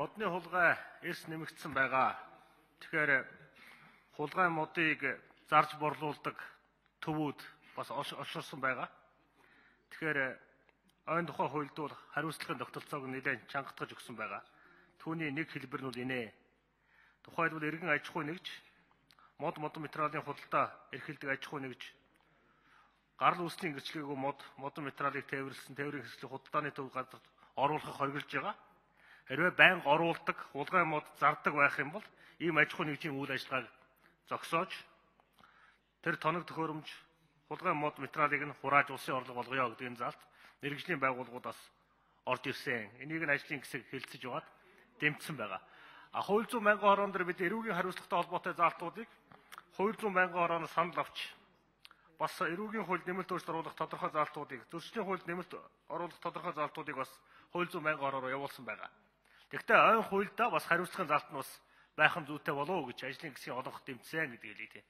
Модны хулгай эрс нэмэгдсэн байгаа. Тэгэхээр хулгай модыг зарж борлуулдаг төвүүд бас олширсан байгаа. Тэгэхээр ойн тухай хуульд бол хариуцлагын тогтолцоог нэлээд чангатгаж өгсөн байгаа. Түүний нэг хэлбэр нь бол инээ. Тухайлбал иргэн аж ахуй нэгж модон материалын худалдаа эрхэлдэг аж ахуй нэгж гарал үүслийн гэрчлэгээгүй модон материалыг тээвэрлсэн тээврийн хэслийн худалдааны төв газарт оруулахыг хориглож байгаа. Хэрвээ байнга оруулдаг, хулгай мод зардаг байх юм бол ийм аж ахуй нэгжийн үйл ажиллагааг зогсоож тэр тоног төхөөрөмж хулгай мод материалыг нь хурааж улсын орлого болгоё гэдэг энэ заалт мэргэжлийн байгууллагуудаас орж ирсэн. Энийг нь ажлын хэсэг хэлэлцэж байгаад дэмжсэн байгаа. Хууль зүйн мянган хорон дээр бид эрүүгийн хариуцлагатай холбоотой заалтуудыг хууль зүйн мянган хороноос санал авч бас эрүүгийн хуульд нэмэлт өөрчлөлт оруулах тодорхой заалтуудыг зөрчлийн хуульд нэмэлт оруулах тодорхой заалтуудыг бас хууль зүйн мянган хороор явуулсан байгаа. Тэгэхдээ ойн хуульдаа бас хариуцлагын заалт нь бас байх нь зүйтэй болов уу гэж ажлын хэсгийн олонх дэмжсэн гэдэг хэлээ.